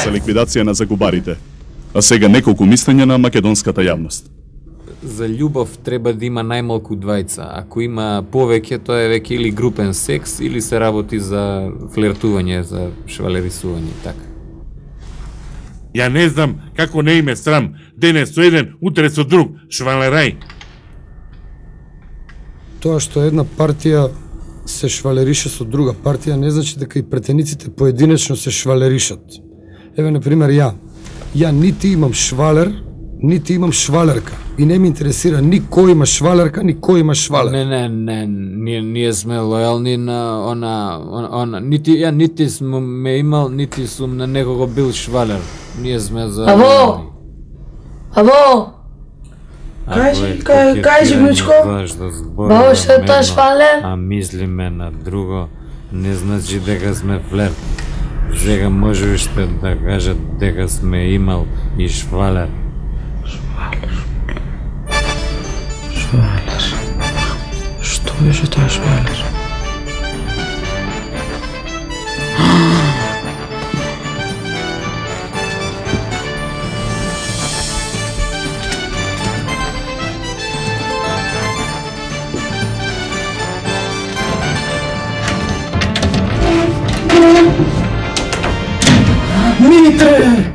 за ликвидација на загубарите. А сега неколку мислења на македонската јавност. За љубов треба да има најмалку двајца. Ако има повеќе, тоа е веќе или групен секс, или се работи за флиртување, за швалерисување и така. Ја не знам како не име срам, денес со еден, утре со друг, швалерај. Тоа што една партија се швалерише со друга партија не значи дека и претениците поединечно се швалеришат. Еве, например, ја нити имам швалер, нити имам швалерка. И не ме интересира ни кој има швалерка, ни кој има швалер. Не, ние сме лојални на она, нити сум ме имал, нити сум на некого бил швалер. Ние сме за... Аво! Кажи, Мичко, бао што е тоа швалер? А мислиме на друго, не значи дека сме флерт. Сега може уште да кажат дека сме имал и швалер. Швалер. Што беше тоа швалер? Митре!